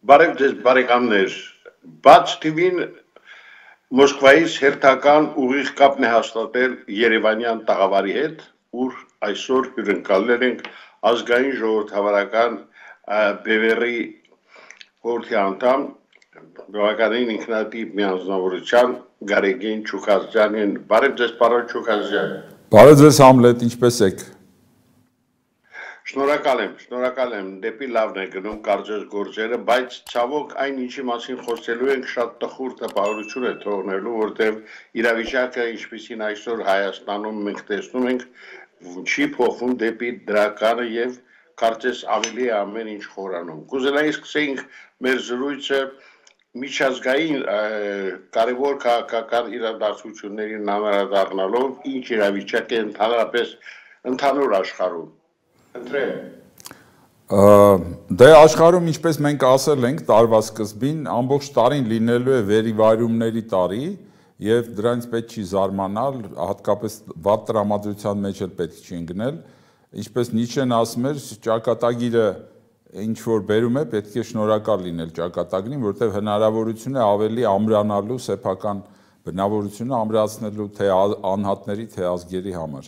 Բարև ձեզ բարեկամներ, բաց TV-ն Մոսկվայից հերթական ուղիղ կապն է հաստատել Երևանյան տաղավարի հետ, ուր այսօր հյուրընկալել ենք ազգային ժողովրդավարական Բևեռի խորհրդի անդամ, բավականին ինքնատիպ միանձնավորության Գարեգին Չուքազյանին։ Բարև ձեզ պարոն Չուքազյան։ Բարև ձեզ Համլետ, ինչպես եք։ Շնորհակալ եմ, դեպի լավն է գնում կարծես գործերը, բայց ցավոք այն ինչի մասին խոսելու ենք շատ տխուր տպավորություն է թողնելու, որտեղ իրավիճակը ինչպիսին այսօր Հայաստանում մենք տեսնում ենք, չի փոխվում դեպի դրականը եւ կարծես ավելի է ամեն ինչ խորանում։ Կուզենայի սկսենք մեր զրույցը միջազգային կարևոր քաղաքական իրադարձություններին անդրադառնալով, ինչ իրավիճակ է ընդհանրապես ընդհանուր աշխարհում։ Դե աշխարհում ինչպես մենք ասել ենք տարվա սկզբին ամբողջ տարին լինելու է վերիվայրումների տարի եւ դրանից պետք չի զարմանալ, հատկապես վատ տրամադրության մեջ էլ պետք չի ընկնել, ինչպես Նիչեն ասում էր, ճակատագիրը ինչ որ բերում է, պետք է շնորհակալ լինել ճակատագրին, որտեղ հնարավորություն է ավելի ամրանալու սեփական բնավորությունը ամրացնելու թե անհատների, թե ազգերի համար։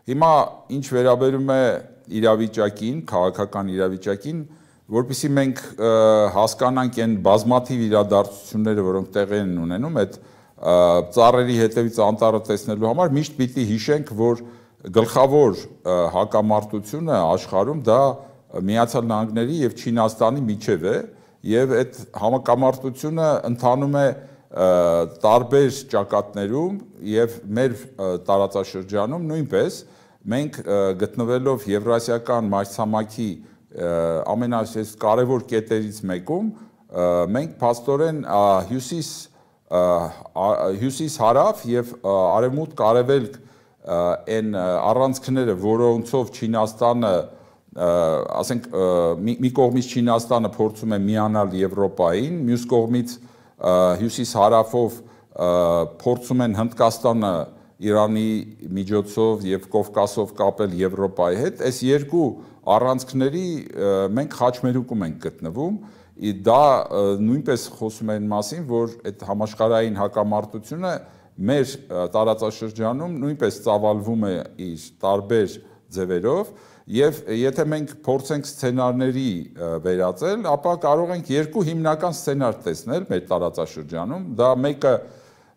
Հիմա ինչ վերաբերում է իրավիճակին, քաղաքական իրավիճակին, որպեսզի մենք հասկանանք այն բազմաթիվ իրադարձությունները, որոնք տեղի են ունենում, այդ ծառերի հետևից անտառը տեսնելու համար միշտ պիտի հիշենք, որ գլխավոր հակամարտությունը աշխարհում դա Միացյալ Նահանգների եւ Չինաստանի միջև է, եւ այդ հակամարտությունը ընթանում է տարբեր ճակատներում եւ մեր տարածաշրջանում նույնպես մենք գտնվելով Եվրասիական մայրցամաքի ամենակարևոր կետերից մեկում մենք փաստորեն հյուսիս-հարավ եւ արևմուտք-արևելք այն առանցքները, որոնցով Չինաստանը, ասենք, մի կողմից Չինաստանը փորձում է միանալ Եվրոպային, մյուս կողմից հյուսիս-հարավով փորձում են Հնդկաստանը Իրանի միջոցով եւ Կովկասով կապել Եվրոպայի հետ, այս երկու առանցքների մենք խաչմերուկում ենք գտնվում, դա նույնպես խոսում է այն մասին, որ այդ համաշխարհային հակամարտությունը մեր տարածաշրջանում նույնպես ծավալվում է իր տարբեր ձևերով եւ եթե մենք փորձենք սցենարների վերածել, ապա կարող ենք երկու հիմնական սցենար տեսնել մեր տարածաշրջանում, դա մեկը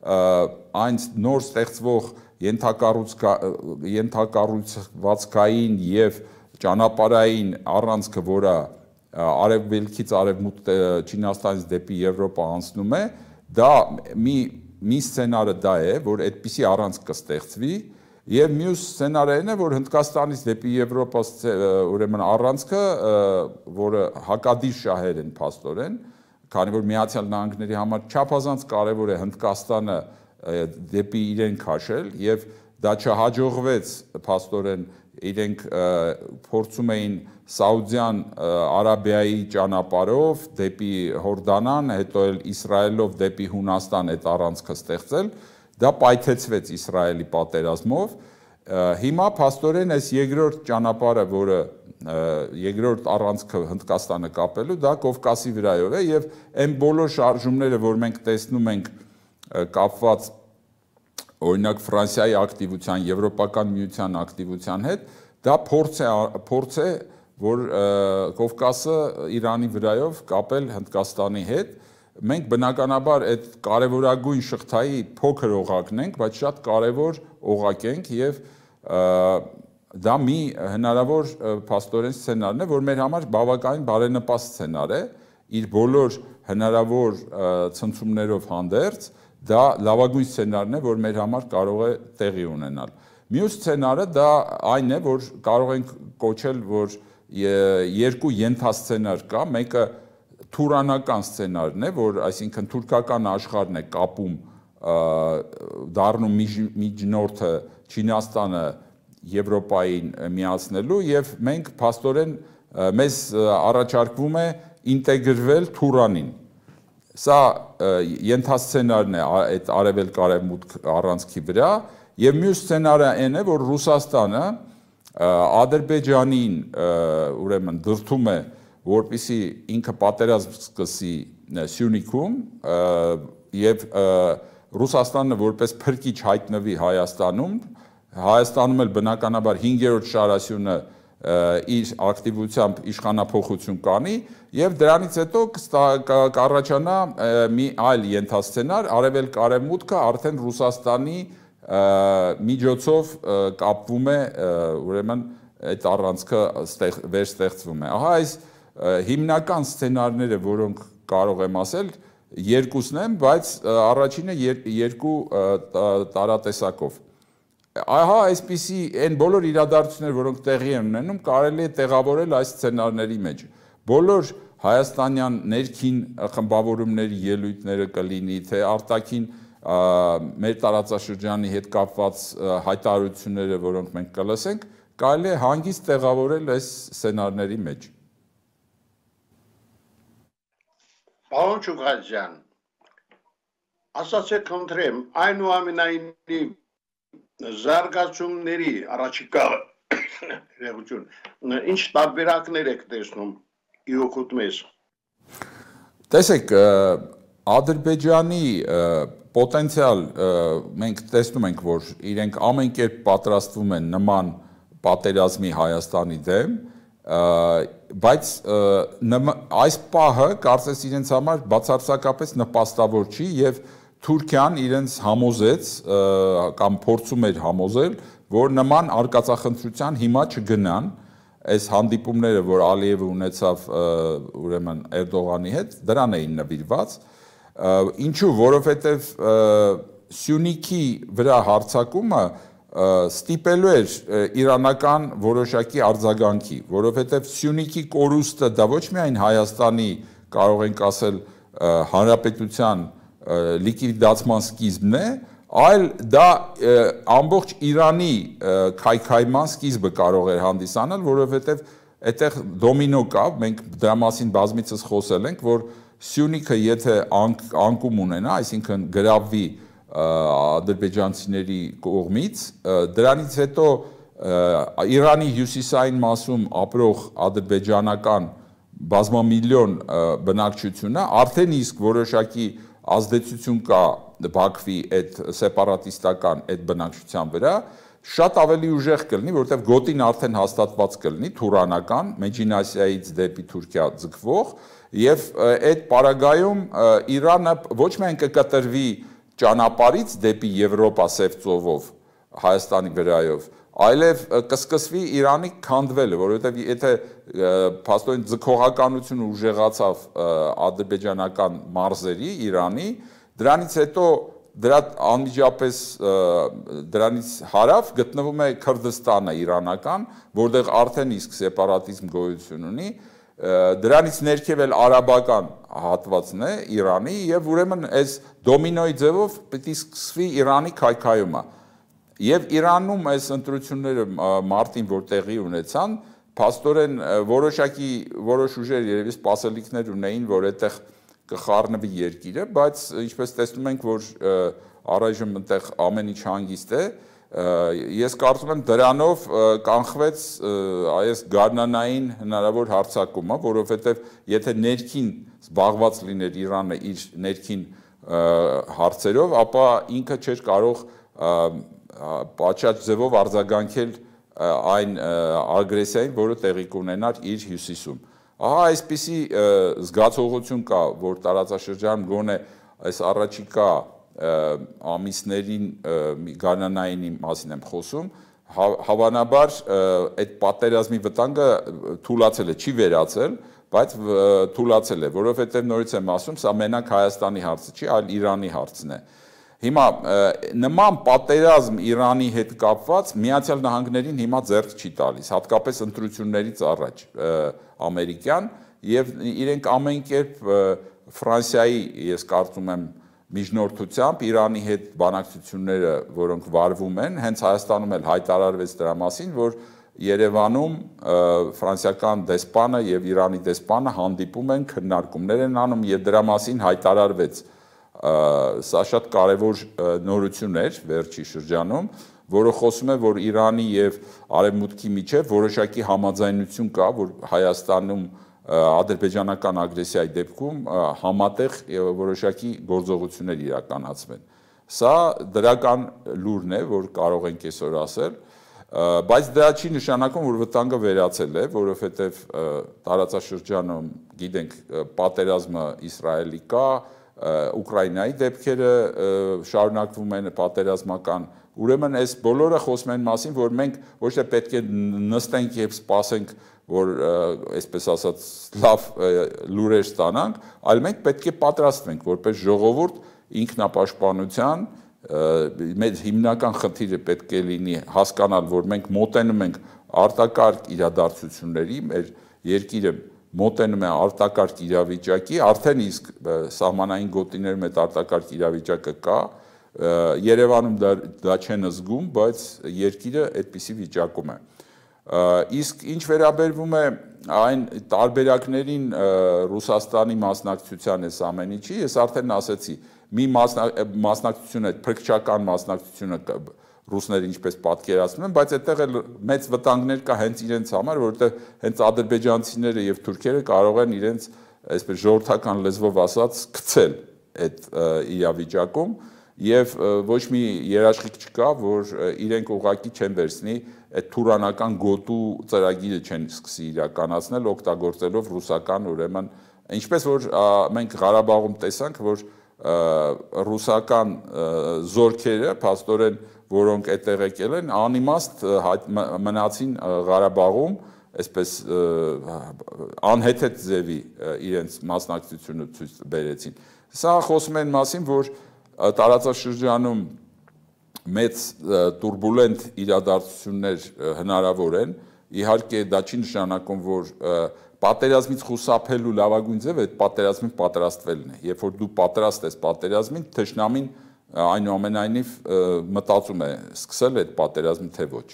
այն նոր ստեղծվող ենթակառուցվածքային եւ ճանապարհային առանցքը, որը արևելքից արևմուտք Չինաստանից դեպի Եվրոպա անցնում է, դա մի սցենարը դա է, որ այդպիսի առանցք կստեղծվի, եւ մյուս սցենարը այն է, որ Հնդկաստանից դեպի Եվրոպա ուրեմն առանցքը, որը հակադիր շահեր են փաստորեն, քանի որ Միացյալ Նահանգների համար չափազանց կարևոր է Հնդկաստանը դեպի իրեն քաշել եւ դա չհաջողվեց փաստորեն իրենք փորձում էին Սաուդյան Արաբիայի ճանապարհով դեպի Հորդանան, հետո էլ Իսրայելով դեպի Հունաստան այդ առանցքը ստեղծել, դա պայթեցվեց Իսրայելի պատերազմով, հիմա փաստորեն այս երկրորդ ճանապարհը, որը երկրորդ առանցքը Հնդկաստանը կապելու, դա Կովկասի վրայով է եւ այն բոլոր շարժումները, որ մենք տեսնում ենք կապված օրինակ Ֆրանսիայի ակտիվության, Եվրոպական միության ակտիվության հետ, դա փորձ է, որ Կովկասը Իրանի վրայով կապել Հնդկաստանի հետ, մենք բնականաբար այդ կարևորագույն շղթայի փոքր օղակն ենք, բայց շատ կարևոր օղակ ենք եւ դա մի հնարավոր փաստորեն սցենարն է, որ մեր համար բավականին բարենպաստ սցենար է, իր բոլոր հնարավոր ցնցումներով հանդերձ, դա լավագույն սցենարն է, որ մեր համար կարող է տեղի ունենալ։ Մյուս սցենարը դա այն է, որ կարող ենք կոչել, որ երկու ենթասցենար կա, մեկը թուրանական սցենարն է, որ այսինքն թուրքական աշխարհն է կապում դառնում միջնորդը Չինաստանը Եվրոպային միացնելու եւ մենք փաստորեն մեզ առաջարկվում է ինտեգրվել Թուրանին։ Սա ենթասցենարն է այդ արևելք-արևմուտք առանցքի վրա եւ մյուս սցենարը այն է, որ Ռուսաստանը Ադրբեջանին ուրեմն դրդում է, որպեսզի ինքը պատերազմ սկսի Սյունիքում եւ Ռուսաստանը որպես փրկիչ հայտնվի Հայաստանում էլ բնականաբար 5-րդ շարասյունը իր ակտիվությամբ իշխանափոխություն կանի եւ դրանից հետո կառաջանա մի այլ ենթասցենար, արևելք-արևմուտքը արդեն Ռուսաստանի միջոցով կապվում է, ուրեմն այդ առանցքը վերստեղծվում է։ Ահա այս հիմնական սցենարները, որոնք կարող եմ ասել, երկուսն են, բայց առաջինը երկու տարատեսակով։ Ահա այսպիսի այն բոլոր իրադարձությունները, որոնք տեղի են ունենում, կարելի է տեղավորել այս սցենարների մեջ։ Բոլոր հայաստանյան ներքին խմբավորումների ելույթները կլինի, թե արտաքին մեր տարածաշրջանի հետ կապված հայտարարությունները, որոնք մենք կլսենք, կարելի է հանգիստ տեղավորել այս սցենարների մեջ։ Պարոն Չուկալյան, ասացեք խնդրեմ, այնուամենայնիվ զարգացումների առաջիկա ինչ տարբերակներ եք տեսնում իօգուտ մեզ։ Տեսեք, Ադրբեջանի պոտենցիալ մենք տեսնում ենք, որ իրենք ամեն կերպ պատրաստվում են նման պատերազմի Հայաստանի դեմ, բայց այս պահը կարծես իրենց համար բացարձակապես նպաստավոր չի եւ Թուրքիան իրենց համոզեց կամ փորձում էր համոզել, որ նման արկածախնդրության հիմա չգնան, այս հանդիպումները, որ Ալիևը ունեցավ ուրեմն Էրդողանի հետ, դրան էին նվիրված, ինչու, որովհետև Սյունիքի վրա հարձակումը ստիպելու էր իրանական որոշակի արձագանքի, որովհետև Սյունիքի կորուստը դա ոչ միայն Հայաստանի, կարող ենք ասել, հանրապետության լիկվիդացման սկիզբն է, այլ դա ամբողջ Իրանի քայքայման սկիզբը կարող էր հանդիսանալ, որովհետև այդտեղ դոմինո կա, մենք դրա մասին բազմիցս խոսել ենք, որ Սյունիքը եթե անկում ունենա, այսինքն գրավվի ադրբեջանցիների կողմից, դրանից հետո Իրանի հյուսիսային մասում ապրող ադրբեջանական բազմամիլիոն բնակչությունը արդեն իսկ որոշակի ազդեցություն կա Բաքվի այդ սեպարատիստական այդ բնակչության վրա, շատ ավելի ուժեղ կլինի, որովհետև գոտին արդեն հաստատված կլինի թուրանական, Մեջին Ասիայից դեպի Թուրքիա ձգվող, եւ այդ պարագայում Իրանը ոչ միայն կկտրվի ճանապարհից դեպի Եվրոպա սև ծովով Հայաստանի վրայով, այլև կսկսվի Իրանի քանդվելը, որովհետև եթե փաստորեն ձգողականությունը ուժեղացավ ադրբեջանական մարզերի Իրանի, դրանից հետո դրա անմիջապես դրանից հարավ գտնվում է Քրդստանը իրանական, որտեղ արդեն իսկ սեպարատիզմ գոյություն ունի, դրանից ներքև էլ արաբական հատվածն է Իրանի եւ ուրեմն այս դոմինոյի ձևով պիտի սկսվի Իրանի քայքայումը։ Եվ Իրանում այս ընտրությունները մարտին որ տեղի ունեցան, փաստորեն որոշ ուժեր երևի սպասելիքներ ունեին, որ այդտեղ կխառնվի երկիրը, բայց ինչպես տեսնում ենք, որ առայժմ այնտեղ ամեն ինչ հանգիստ է, ես կարծում եմ դրանով կանխվեց այս գարնանային հնարավոր հարձակումը, որովհետև եթե ներքին զբաղված լիներ Իրանը իր ներքին հարցերով, ապա ինքը չէր կարող պատշաճ ձևով արձագանքել այն ագրեսիային, որը տեղի կունենար իր հյուսիսում։ Ահա այսպիսի զգացողություն կա, որ տարածաշրջանում գոնե այս առաջիկա ամիսներին գարնանայինի մասին եմ խոսում, հավանաբար այդ պատերազմի վտանգը թուլացել է, չի վերացել, բայց թուլացել է, որովհետև նորից եմ ասում, սա մենակ Հայաստանի հարցը չի, այլ Իրանի հարցն է։ Հիմա նման պատերազմ Իրանի հետ կապված Միացյալ Նահանգներին հիմա ձեռք չի տալիս, հատկապես ընտրություններից առաջ ամերիկյան, եւ իրենք ամեն կերպ Ֆրանսիայի, ես կարծում եմ, միջնորդությամբ Իրանի հետ բանակցությունները, որոնք վարվում են, հենց Հայաստանում էլ հայտարարվեց դրա մասին, որ Երևանում ֆրանսիական դեսպանը եւ Իրանի դեսպանը հանդիպում են, քննարկումներ են անում եւ դրա մասին հայտարարվեց սա շատ կարևոր նորություն էր վերջի շրջանում, որը խոսում է, որ Իրանի եւ Արևմուտքի միջեւ որոշակի համաձայնություն կա, որ Հայաստանում ադրբեջանական ագրեսիայի դեպքում համատեղ որոշակի գործողություններ իրականացվեն։ Սա դրական լուրն է, որ կարող ենք այսօր ասել, բայց դա չի նշանակում, որ վտանգը վերացել է, որովհետև տարածաշրջանում գիտենք պատերազմը Իսրայելի կա, Ուկրաինայի դեպքերը շարունակվում են պատերազմական, ուրեմն այս բոլորը խոսում են մասին, որ մենք ոչ թե պետք է նստենք եւ սպասենք, որ այսպես ասած լավ լուրեր ստանանք, այլ մենք պետք է պատրաստվենք որպես ժողովուրդ ինքնապաշտպանության մեր հիմնական խնդիրը պետք է լինի հասկանալ, որ մենք մոտենում ենք արտակարգ իրադարձությունների, մեր երկիրը մոտենում է արտակարգ իրավիճակի, արդեն իսկ սահմանային գոտիներում այդ արտակարգ իրավիճակը կա, Երևանում դա չեն զգում, բայց երկիրը այդպիսի վիճակում է։ Իսկ ինչ վերաբերվում է այն տարբերակներին Ռուսաստանի մասնակցության այս ամեն ինչի, ես արդեն ասեցի, մի մասնակցությունը, փրկչական մասնակցությունը ռուսները ինչպես պատկերացնում են, բայց այդտեղ էլ մեծ վտանգներ կա հենց իրենց համար, որովհետև հենց ադրբեջանցիները եւ թուրքերը կարող են իրենց այսպես ժողովրդական լեզվով ասած գցել այդ իրավիճակում եւ ոչ մի երաշխիք չկա, որ իրենք ուղղակի չեն վերցնի այդ թուրանական գոտու ծրագիրը չեն սկսի իրականացնել օգտագործելով ռուսական ուրեմն ինչպես որ մենք Ղարաբաղում տեսանք, որ ռուսական զորքերը փաստորեն որոնք այդտեղ եկել են անիմաստ մնացին Ղարաբաղում այսպես անհեթեթ ձևի իրենց մասնակցությունը ցույց բերեցին։ Սա խոսում են մասին, որ տարածաշրջանում մեծ տուրբուլենտ իրադարձություններ հնարավոր են, իհարկե դա չի նշանակում, որ պատերազմից խուսափելու լավագույն ձևը այդ պատերազմին պատրաստվելն է։ Երբ որ դու պատրաստ ես պատերազմին, թշնամին այնուամենայնիվ մտածում է սկսել այդ պատերազմը թե ոչ։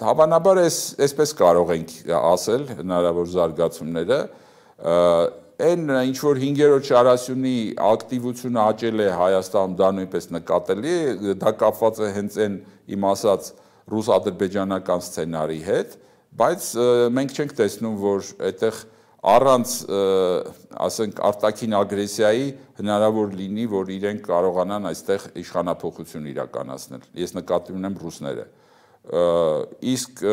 Հավանաբար այսպես կարող ենք ասել հնարավոր զարգացումները, այն ինչ որ 5-րդ շարասյունի ակտիվությունը աճել է Հայաստանում, դա նույնպես նկատելի է, դա կապված է հենց այն իմ ասած ռուս-ադրբեջանական սցենարի հետ, բայց մենք չենք տեսնում, որ այդտեղ առանց ասենք արտաքին ագրեսիայի հնարավոր լինի, որ իրենք կարողանան այստեղ իշխանափոխություն իրականացնել։ Ես նկատի ունեմ ռուսները։ Իսկ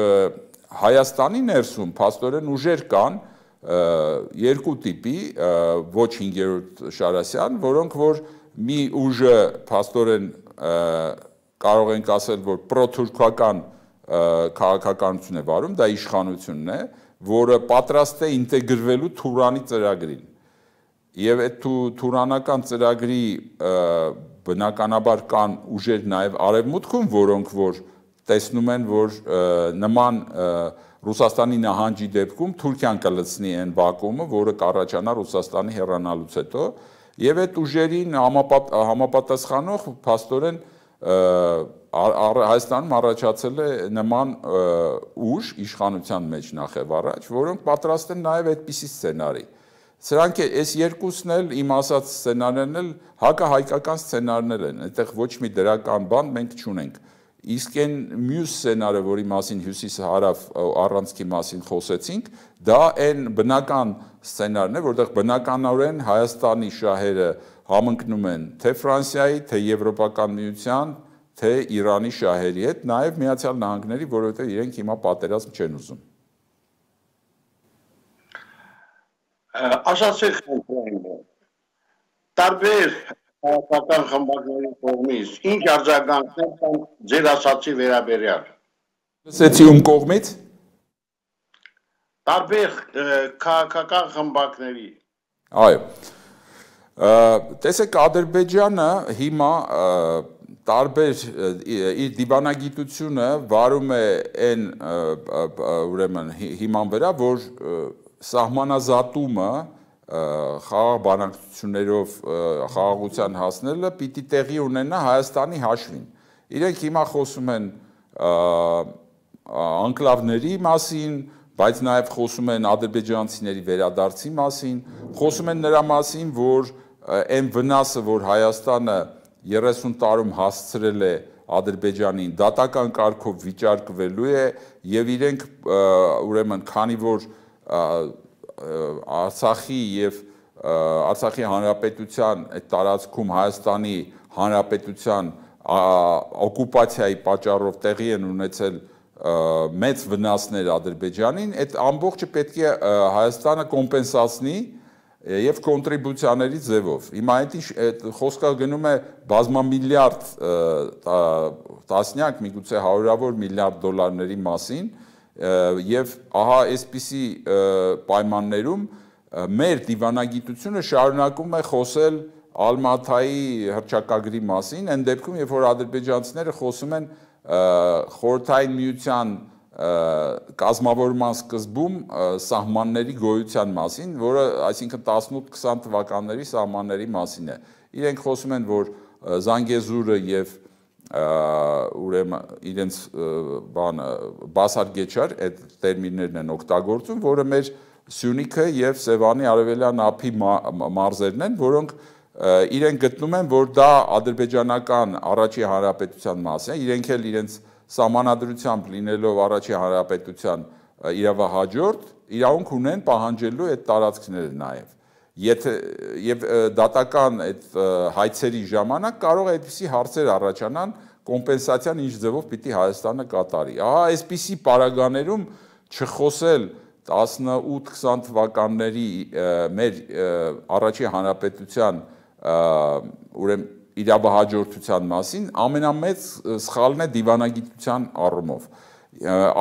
Հայաստանի ներսում փաստորեն ուժեր կան երկու տիպի, ոչ 5-րդ Շարասյան, որոնք որ մի ուժը փաստորեն կարող ենք ասել, որ պրոթուրքական քաղաքականություն է վարում, դա իշխանությունն է, որը պատրաստ է ինտեգրվելու Թուրանի ծրագրին։ Եվ այդ թուրանական ծրագրի բնականաբար կան ուժեր նաև արևմուտքում, որոնք որ տեսնում են, որ նման Ռուսաստանի նահանջի դեպքում Թուրքիան կլցնի այն վակուումը, որը կառաջանա Ռուսաստանի հեռանալուց հետո, եւ այդ ուժերին համապատասխանող փաստորեն Հայաստանում առաջացել է նման ուժ իշխանության մեջ նախև առաջ, որոնք պատրաստ են նաև այդպիսի սցենարի։ Սրանք այս երկուսն էլ իմ ասած սցենարներն էլ հակահայկական սցենարներ են, այդտեղ ոչ մի դրական բան մենք չունենք։ Իսկ այն մյուս սցենարը, որի մասին հյուսիս-հարավ առանցքի մասին խոսեցինք, դա այն բնական սցենարն է, որտեղ բնականորեն Հայաստանի շահերը համընկնում են թե Ֆրանսիայի, թե Եվրոպական միության, թե Իրանի շահերի հետ, նաև Միացյալ Նահանգների, որովհետև իրենք հիմա պատերազմ չեն ուզում։ Ասացեք տարբեր քաղաքական խմբակների կողմից ինչ արձագանքներ կան ձեր ասացի վերաբերյալ։ Լսեցի ում կողմից։ Տարբեր քաղաքական խմբակների։ Այո։ Տեսեք, Ադրբեջանը հիմա տարբեր իր դիվանագիտությունը վարում է այն ուրեմն հիման վրա, որ սահմանազատումը խաղաղ բանակցություններով խաղաղության հասնելը պիտի տեղի ունենա Հայաստանի հաշվին։ Իրենք հիմա խոսում են անկլավների մասին, բայց նաև խոսում են ադրբեջանցիների վերադարձի մասին, խոսում են նրա մասին, որ այն վնասը, որ Հայաստանը 30 տարում հասցրել է Ադրբեջանին, դատական կարգով վիճարկվելու է եւ իրենք ուրեմն քանի որ Արցախի եւ Արցախի հանրապետության այդ տարածքում Հայաստանի հանրապետության օկուպացիայի պատճառով տեղի են ունեցել մեծ վնասներ Ադրբեջանին, այդ ամբողջը պետք է Հայաստանը կոմպենսացնի եւ կոնտրիբուցիաների ձևով։ Հիմա այդ խոսքը գնում է բազմամիլիարդ տասնյակ, միգուցե հարյուրավոր միլիարդ դոլարների մասին, եւ ահա այսպիսի պայմաններում մեր դիվանագիտությունը շարունակում է խոսել Ալմաթայի հռչակագրի մասին, այն դեպքում, երբ որ ադրբեջանցիները խոսում են Խորհրդային Միության կազմավորման սկզբում սահմանների գոյության մասին, որը այսինքն 18-20 թվականների սահմանների մասին է։ Իրենք խոսում են, որ Զանգեզուրը եւ ուրեմն իրենց բասարգեչար այդ տերմիններն են օգտագործում, որը մեր Սյունիքը եւ Սևանի արևելյան ափի մարզերն են, որոնք իրենք գտնում են, որ դա ադրբեջանական առաջի հանրապետության մաս է, իրենք էլ իրենց սահմանադրությամբ լինելով առաջի հանրապետության իրավահաջորդ, իրավունք ունեն պահանջելու այդ տարածքները նաև։ Եվ դատական այդ հայցերի ժամանակ կարող է այդպիսի հարցեր առաջանան, կոմպենսացիան ինչ ձևով պիտի Հայաստանը կատարի։ Ահա այսպիսի պարագաներում չխոսել 18-20 թվականների մեր առաջի հանրապետության ուրեմն իրավահաջորդության մասին ամենամեծ սխալն է դիվանագիտության առումով։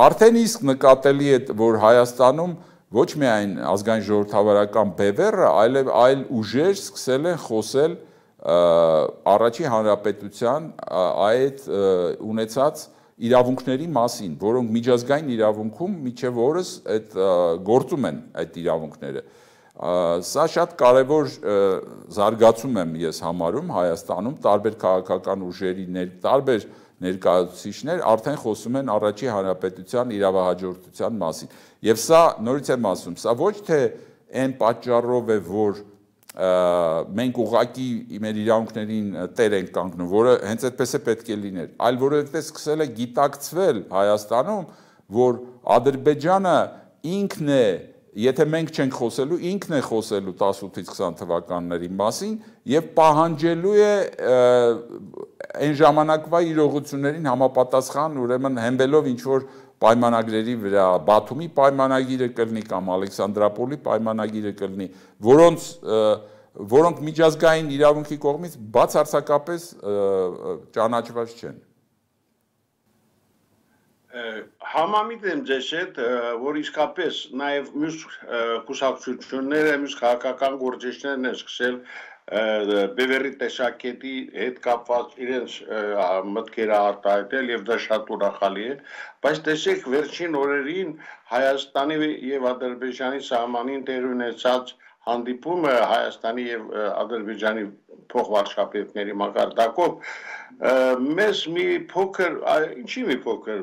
Արդեն իսկ նկատելի է, որ Հայաստանում ոչ միայն ազգային ժողովրդավարական բևեռը, այլ ուժեր սկսել են խոսել առաջի հանրապետության այդ ունեցած իրավունքների մասին, որոնք միջազգային իրավունքում միջև օրս այդ գործում են այդ իրավունքները։ Սա շատ կարևոր զարգացում եմ ես համարում Հայաստանում, տարբեր քաղաքական ուժերի տարբեր ներկայացուցիչներ արդեն խոսում են առաջի հանրապետության իրավահաջորդության մասին։ Եվ սա նորից եմ ասում, սա ոչ թե այն պատճառով է, որ մենք ուղղակի մեր իրավունքներին տեր ենք կանգնում, որը հենց այդպես է պետք է լիներ, այլ որովհետև սկսել է գիտակցվել Հայաստանում, որ Ադրբեջանը ինքն է, եթե մենք չենք խոսելու, ինքն է խոսելու 18-ից 20 թվականների մասին եւ պահանջելու է այն ժամանակվա իրողություններին համապատասխան, ուրեմն հենվելով ինչ որ պայմանագրերի վրա, Բաթումի պայմանագիրը կլինի կամ Ալեքսանդրապոլի պայմանագիրը կլինի, որոնք միջազգային իրավունքի կողմից բացարձակապես ճանաչված չեն։ Համամիտ եմ ձեզ հետ, որ իսկապես նաև մյուս կուսակցությունները, մյուս քաղաքական գործիչներն են սկսել բևեռի տեսակետի հետ կապված իրենց մտքերը արտահայտել եւ դա շատ ուրախալի է, բայց տեսեք վերջին օրերին Հայաստանի եւ Ադրբեջանի սահմանին տեղի ունեցած հանդիպումը Հայաստանի եւ Ադրբեջանի փոխվարշապետների մակարդակով մեզ մի փոքր, ինչի մի փոքր,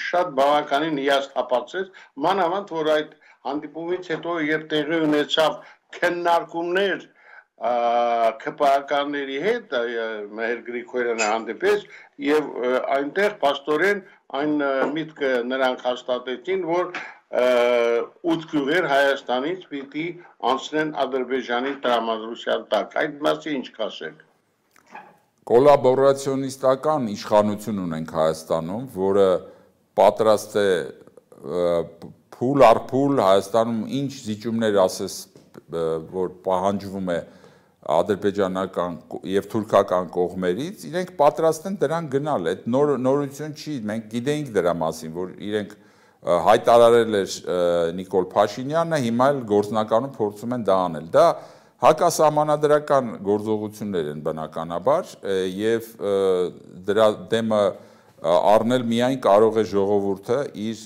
շատ բավականին հիասթափացրեց, մանավանդ որ այդ հանդիպումից հետո երբ տեղի ունեցավ քննարկումներ ԿՊԱ-ականների հետ, Մհեր Գրիգորյանը հանդիպեց եւ այնտեղ փաստորեն այն միտքը նրանք հաստատեցին, որ 8 գյուղեր Հայաստանից պիտի անցնեն Ադրբեջանի տրամադրության տակ։ Այդ մասի ինչ կասեք։ Կոլաբորացիոնիստական իշխանություն ունենք Հայաստանում, որը պատրաստ է փուլ առ փուլ Հայաստանում ինչ զիջումներ ասես, որ պահանջվում է ադրբեջանական եւ թուրքական կողմերից, իրենք պատրաստ են դրան գնալ։ Այդ նորություն չի, մենք գիտեինք դրա մասին, որ իրենք հայտարարել էր Նիկոլ Փաշինյանը, հիմա էլ գործնականում փորձում են դա անել։ Դա հակասահմանադրական գործողություններ են բնականաբար եւ դրա դեմը առնել միայն կարող է ժողովուրդը իր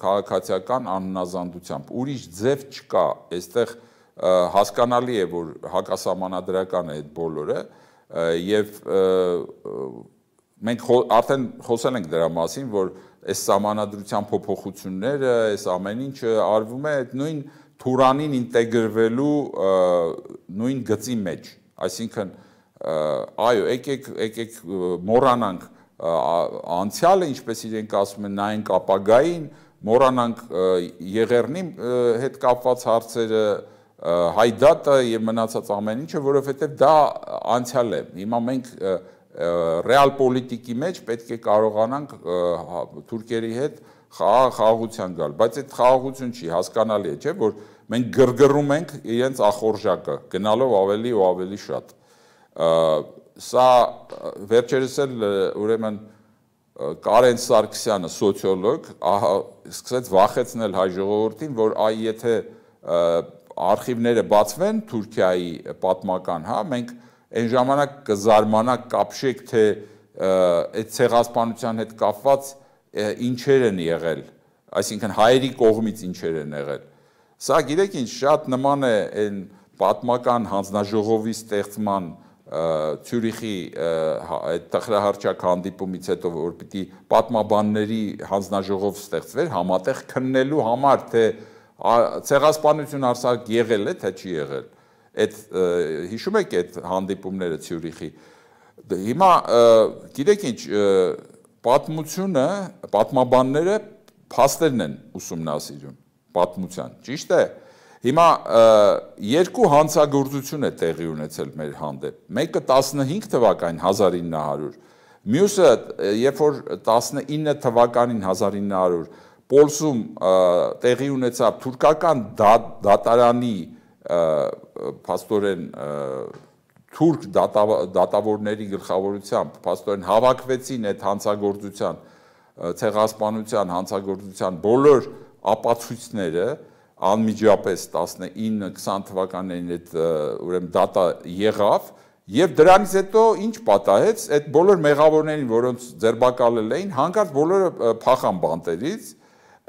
քաղաքացիական անհնազանդությամբ։ Ուրիշ ձև չկա, այստեղ հասկանալի է, որ հակասահմանադրական է այդ բոլորը եւ մենք արդեն խոսել ենք դրա մասին, որ այս սահմանադրության փոփոխությունները, այս ամեն ինչը արվում է այդ նույն Թուրանին ինտեգրվելու նույն գծի մեջ, այսինքն այո, եկեք մոռանանք անցյալը, ինչպես իրենք ասում են, նայենք ապագային, մոռանանք Եղեռնի հետ կապված հարցերը, Հայդատը եւ մնացած ամեն ինչը, որովհետեւ դա անցյալ է։ Հիմա մենք ռեալ պոլիտիկի մեջ պետք է կարողանանք թուրքերի հետ խաղաղության գալ, բայց այդ խաղաղություն չի, հասկանալի է, չէ՞, որ մենք գրգռում ենք իրենց ախորժակը, գնալով ավելի ու ավելի շատ։ Սա վերջերս էլ ուրեմն Կարեն Սարգսյանը, սոցիոլոգ, սկսեց վախեցնել հայ ժողովրդին, որ եթե արխիվները բացվեն Թուրքիայի պատմական, հա, մենք այն ժամանակ կզարմանանք, կապշեք, թե այդ ցեղասպանության հետ կապված ինչեր են եղել, այսինքն հայերի կողմից ինչեր են եղել։ Սա գիտեք ինչ, շատ նման է այն պատմական հանձնաժողովի ստեղծման Ցյուրիխի այդ տխրահարճակ հանդիպումից հետո, որ պիտի պատմաբանների հանձնաժողով ստեղծվեր համատեղ քննելու համար, թե ցեղասպանություն արսակ եղել է, թե չի եղել։ Այդ հիշում եք այդ հանդիպումները Ցյուրիխի։ Հիմա գիտեք ինչ, պատմությունը, պատմաբանները փաստերն են ուսումնասիրում պատմության, ճիշտ է։ Հիմա երկու հանցագործություն է տեղի ունեցել մեր հանդեպ։ Մեկը 15 թվականին 1900, մյուսը երբ որ 19 թվականին 1900 Պոլսում տեղի ունեցավ թուրքական դատարանի փաստորեն թուրք դատավորների գլխավորությամբ փաստորեն հավաքվեցին այդ հանցագործության ցեղասպանության հանցագործության բոլոր ապացույցները անմիջապես 19-20 թվականներին այդ ուրեմն դատա եղավ եւ դրանից հետո ինչ պատահեց այդ բոլոր մեղավորներին, որոնց ձերբակալել էին, հանկարծ բոլորը փախան բանտերից,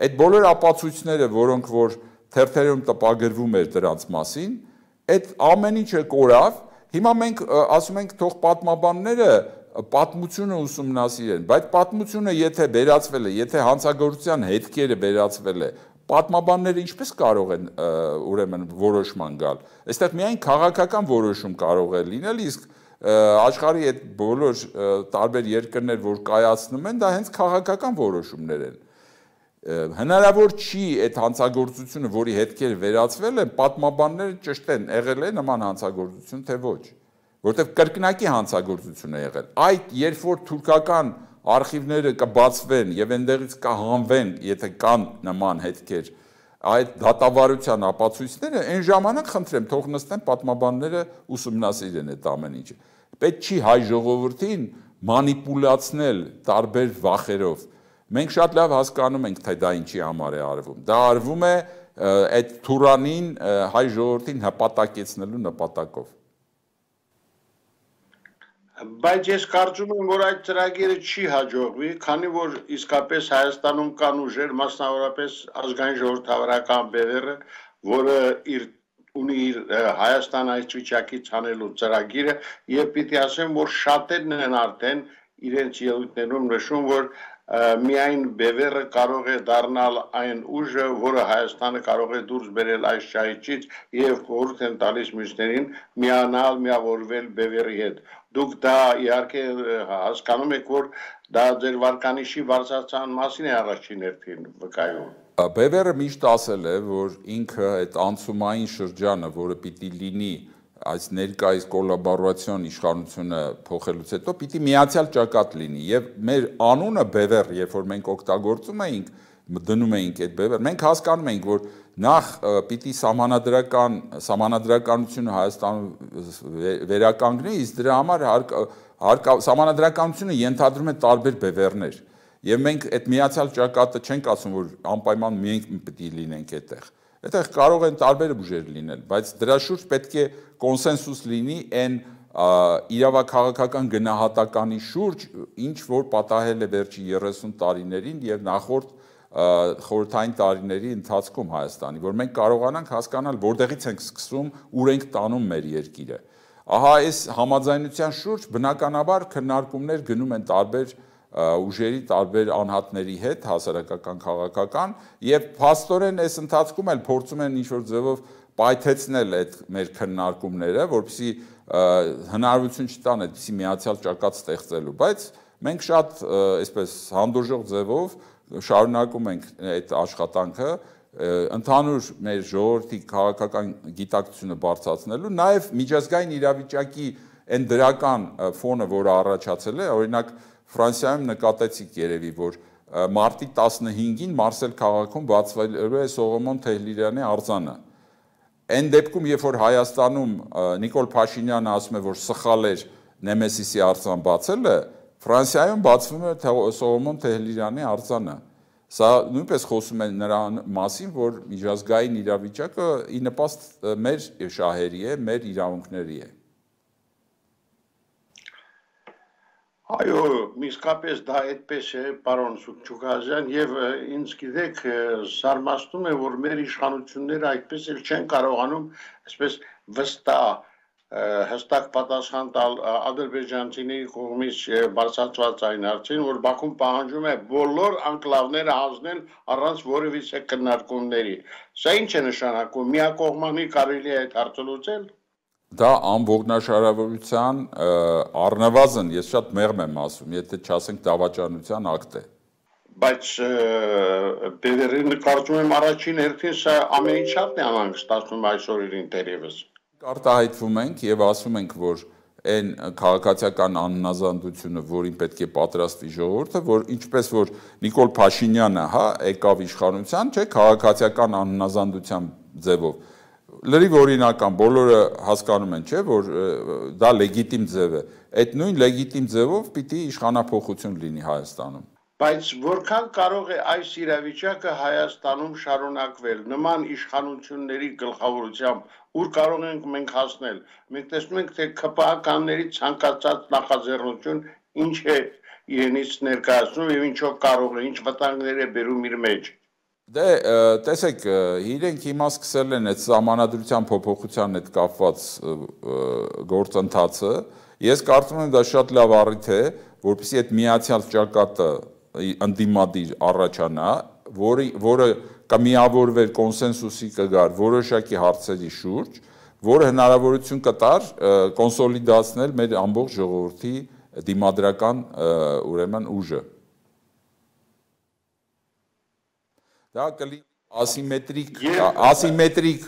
այդ բոլոր ապացույցները, որոնք որ թերթերում տպագրվում էր դրանց մասին, այդ ամեն ինչը կորավ։ Հիմա մենք ասում ենք թող պատմաբանները պատմությունը ուսումնասիրեն, բայց պատմությունը եթե վերացվել է, եթե հանցագործության հետքերը վերացվել է, պատմաբանները ինչպես կարող են ուրեմն որոշման գալ։ Այստեղ միայն քաղաքական որոշում կարող է լինել, իսկ աշխարհի այդ բոլոր տարբեր երկրներ, որ կայացնում են, դա հենց քաղաքական որոշումներ են։ Հնարավոր չի այդ հանցագործությունը, որի հետքերը վերացվել են, պատմաբանները ճշտեն, եղել է նման հանցագործություն, թե ոչ, որտեղ կրկնակի հանցագործություն է եղել։ Այդ երբ որ թուրքական արխիվները կբացվեն եւ այնտեղից կհանվեն, եթե կան նման հետքեր, այդ դատավարության ապացույցները, այն ժամանակ խնդրեմ, թող նստեն պատմաբանները ուսումնասիրեն այդ ամեն ինչը։ Պետք չի հայ ժողովրդին մանիպուլացնել տարբեր վախերով։ Մենք շատ լավ հասկանում ենք, թե դա ինչի համար է արվում։ Դա արվում է այդ Թուրանին հայ ժողովրդին հպատակեցնելու նպատակով։ Բայց ես կարծում եմ, որ այդ ծրագիրը չի հաջողվի, քանի որ իսկապես Հայաստանում կան ուժեր, մասնավորապես ազգային ժողովրդավարական բևեռը, որը ունի իր Հայաստան այս վիճակից հանելու ծրագիրը, եւ պիտի ասեմ, որ շատերն են արդեն իրենց ելույթներում նշում, որ միայն բևեռը կարող է դառնալ այն ուժը, որը Հայաստանը կարող է դուրս բերել այս ճահիճից եւ խորհուրդ են տալիս մյուսներին միանալ, միավորվել բևեռի հետ։ Դուք դա իհարկե հասկանում եք, որ դա ձեր վարկանիշի բարձրացան մասին է առաջին հերթին վկայում։ Բևեռը միշտ ասել է, որ ինքը այդ անցումային շրջանը, որը պիտի լինի այս ներկայիս կոլաբորացիոն իշխանությունը փոխելուց հետո պիտի միացյալ ճակատ լինի եւ մեր անունը բևեռ, երբ որ մենք օգտագործում էինք, դնում էինք այդ բևեռ, մենք հասկանում էինք, որ նախ պիտի սահմանադրականությունը Հայաստանում վերականգնի, իսկ դրա համար սահմանադրականությունը ենթադրում է տարբեր բևեռներ եւ մենք այդ միացյալ ճակատը չենք ասում, որ անպայման մենք պիտի լինենք այդտեղ։ Այդտեղ կարող են տարբեր ուժեր լինել, բայց դրա շուրջ պետք է կոնսենսուս լինի այն իրավաքաղաքական գնահատականի շուրջ, ինչ որ պատահել է վերջի 30 տարիներին եւ նախորդ խորհրդային տարիների ընթացքում Հայաստանի, որ մենք կարողանանք հասկանալ, որտեղից ենք սկսում, ուր ենք տանում մեր երկիրը։ Ահա այս համաձայնության շուրջ բնականաբար քննարկումներ գնում են տարբեր ուժերի տարբեր անհատների հետ, հասարակական, քաղաքական, եւ փաստորեն այս ընթացքում էլ փորձում են ինչ-որ ձևով պայթեցնել այդ մեր քննարկումները, որպեսզի հնարավորություն չտան այդպիսի միացյալ ճակատ ստեղծելու, բայց մենք շատ այսպես հանդուրժող ձևով շարունակում ենք այդ աշխատանքը ընդհանուր մեր ժողովրդի քաղաքական գիտակցությունը բարձրացնելու, նաև միջազգային իրավիճակի այն դրական ֆոնը, որը առաջացել է, օրինակ Ֆրանսիայում նկատեցիք երևի, որ մարտի 15-ին Մարսել քաղաքում բացվելու է Սողոմոն Թեհլիրյանի արձանը։ Այն դեպքում, երբ որ Հայաստանում Նիկոլ Փաշինյանը ասում է, որ սխալ էր Նեմեսիսի արձան բացելը, Ֆրանսիայում բացվում է Սողոմոն Թեհլիրյանի արձանը։ Սա նույնպես խոսում է նրա մասին, որ միջազգային իրավիճակը ի նպաստ մեր շահերի է, մեր իրավունքների է։ Այո, իսկապես դա այդպես է, պարոն Սուքչուկազյան, եւ ինձ գիտեք, զարմացնում է, որ մեր իշխանությունները այդպես էլ չեն կարողանում, այսպես հստակ պատասխան տալ ադրբեջանցիների կողմից բարձրացված այն հարցին, որ Բաքուն պահանջում է բոլոր անկլավները հանձնել առանց որևիցե քննարկումների։ Սա ինչ է նշանակում, միակողմանի կարելի է այդ հարցը լուծել։ Դա ամբողջնաշարավորության առնվազն, ես շատ մեղմ եմ ասում, եթե չասենք դավաճանության ակտ է։ Բայց կարծում եմ առաջին հերթին սա ամեն ինչ շատ է անհանգստացնում այսօրին դերևս։ Արտահայտվում ենք եւ ասում ենք, որ այն քաղաքացիական անհնազանդությունը, որին պետք է պատրաստվի ժողովուրդը, որ ինչպես որ Նիկոլ Փաշինյանը, եկավ իշխանության, չէ, քաղաքացիական անհնազանդության ձևով լրիվ օրինական, բոլորը հասկանում են, չէ, որ դա լեգիտիմ ձև է։ Այդ նույն լեգիտիմ ձևով պիտի իշխանափոխություն լինի Հայաստանում։ Բայց որքան կարող է այս իրավիճակը Հայաստանում շարունակվել նման իշխանությունների գլխավորությամբ, ուր կարող ենք մենք հասնել։ Մենք տեսնում ենք, թե ԿՊԱ-ականների ցանկացած նախաձեռնություն ինչ է իրենից ներկայացնում եւ ինչով կարող է, ինչ վտանգներ է բերում իր մեջ։ Դե տեսեք, իրենք հիմա սկսել են այդ սահմանադրության փոփոխության հետ կապված գործընթացը։ Ես կարծում եմ դա շատ լավ առիթ է, որպեսզի այդ միացյալ ճակատը ընդդիմադիր առաջանա, որը կմիավորվեր կոնսենսուսի կգար որոշակի հարցերի շուրջ, որը հնարավորություն կտար կոնսոլիդացնել մեր ամբողջ ժողովրդի դիմադրական ուրեմն ուժը։ Դա կլինի ասիմետրիկ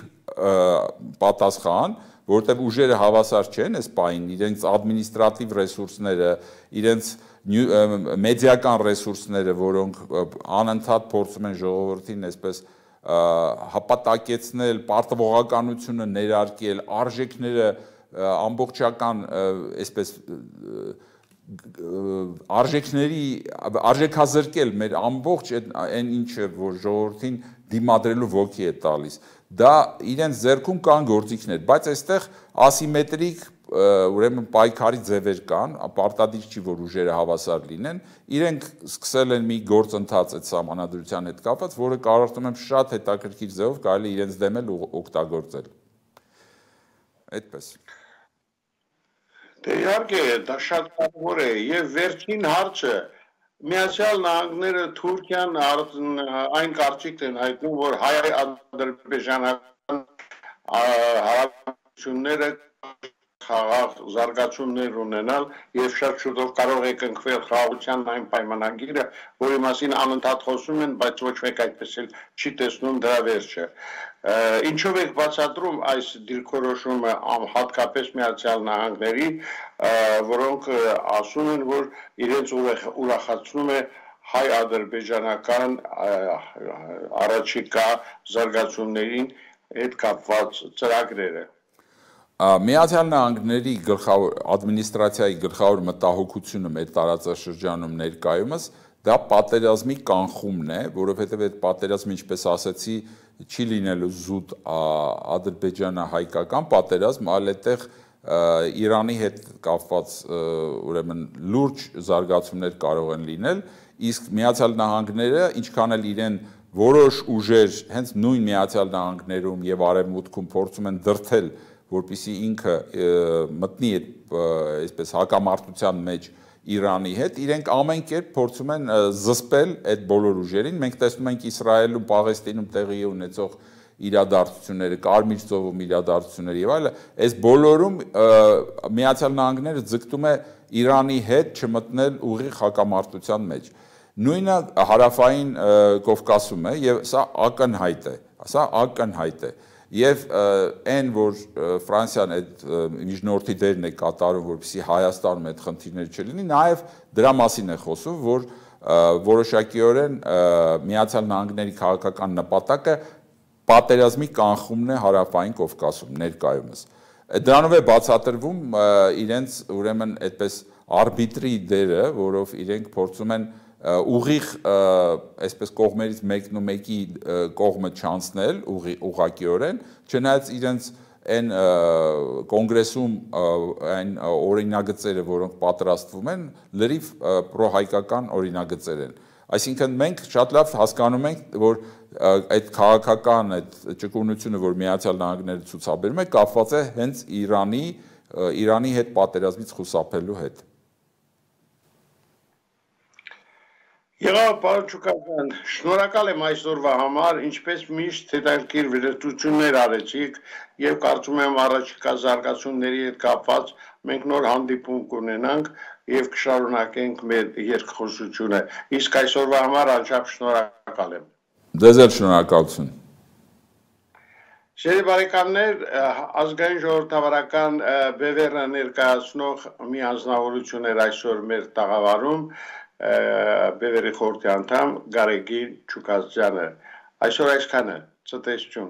պատասխան, որտեղ ուժերը հավասար չեն այս պահին, իրենց ադմինիստրատիվ ռեսուրսները, իրենց մեդիական ռեսուրսները, որոնք անընդհատ փորձում են ժողովրդին այսպես հապատակեցնել, պարտվողականությունը ներարկել, արժեքները ամբողջական այսպես արժեքազրկել մեր ամբողջ այն ինչը, որ ժողովրդին դիմադրելու ոգի է տալիս։ Դա իրենց ձեռքում կան գործիքներ, բայց այստեղ ասիմետրիկ ուրեմն պայքարի ձևեր կան, պարտադիր չի, որ ուժերը հավասար լինեն, իրենք սկսել են մի գործընթաց այդ սահմանադրության հետ կապված, որը կարծում եմ շատ հետաքրքիր ձևով կարելի իրենց դեմ էլ օգտագործել։ Այդպես։ Դե իհարկե, դա շատ կարևոր է եւ վերջին հարցը Միացյալ Նահանգները Թուրքիան այն կարծիքն են հայտնում, որ հայ-ադրբեջանական հարաբերությունները խաղաղ զարգացումներ ունենալ եւ շատ շուտով կարող է կնքվել խաղաղության այն պայմանագիրը, որի մասին անընդհատ խոսում են, բայց ոչ մեկ այդպես էլ չի տեսնում դրա վերջը։ Ինչով եք բացատրում այս դիրքորոշումը հատկապես Միացյալ Նահանգների, որոնք ասում են, որ իրենց ուրախացնում է հայ-ադրբեջանական առաջիկա զարգացումներին հետ կապված ծրագրերը։ Միացյալ Նահանգների ադմինիստրացիայի գլխավոր մտահոգությունը մեր տարածաշրջանում ներկայումս դա պատերազմի կանխումն է, որովհետև այդ պատերազմը, ինչպես ասացի, չի լինելու զուտ ադրբեջանա-հայկական պատերազմ, այլ այդտեղ Իրանի հետ կապված ուրեմն լուրջ զարգացումներ կարող են լինել, իսկ Միացյալ Նահանգները, ինչքան էլ իրեն որոշ ուժեր հենց նույն Միացյալ Նահանգներում եւ Արևմուտքում փորձում են դրթել, որպեսզի ինքը մտնի այսպես հակամարտության մեջ Իրանի հետ, իրենք ամեն կերպ փորձում են զսպել այդ բոլոր ուժերին։ Մենք տեսնում ենք Իսրայելում, Պաղեստինում տեղի ունեցող իրադարձությունները, Կարմիր ծովում իրադարձությունները եւ այլն, այս բոլորում Միացյալ Նահանգները ձգտում է Իրանի հետ չմտնել ուղիղ հակամարտության մեջ։ Նույնը հարավային Կովկասում է եւ սա ակնհայտ է, եւ այն որ Ֆրանսիան այդ միջնորդի դերն է կատարում, որպեսզի Հայաստանում այդ խնդիրները չլինի, նաեւ դրա մասին է խոսում, որ որոշակիորեն Միացյալ Նահանգների քաղաքական նպատակը պատերազմի կանխումն է հարավային Կովկասում ներկայումս։ Դրանով է բացատրվում իրենց ուրեմն այդպես արբիտրի դերը, որով իրենք փորձում են ուղիղ այսպես կողմերից մեկն ու մեկի կողմը չանցնել ուղղակիորեն, չնայած իրենց այն կոնգրեսում այն օրինագծերը, որոնք պատրաստվում են, լրիվ պրոհայկական օրինագծեր են։ Այսինքն մենք շատ լավ հասկանում ենք, որ այդ քաղաքական այդ ճկունությունը, որ Միացյալ Նահանգները ցուցաբերում է, կապված է հենց Իրանի հետ պատերազմից խուսափելու հետ։ Եղավ, պարոն Չուկասյան, շնորհակալ եմ այսօրվա համար, ինչպես միշտ հետաքրքիր վերլուծություններ արեցիք եւ կարծում եմ առաջիկա զարգացումների հետ կապված մենք նոր հանդիպում կունենանք եւ կշարունակենք մեր երկխոսությունը։ Իսկ այսօրվա համար անչափ շնորհակալ եմ։ Ձեզ էլ շնորհակալություն։ Շերի բարեկամներ, ազգային ժողովրդավարական բևեռը ներկայացնող մի անձնավորություն էր այսօր մեր տաղավարում Բևերի խորհրդի անդամ Գարեգին Չուկասյանը։ Այսօր այսքանը, ցտեսություն։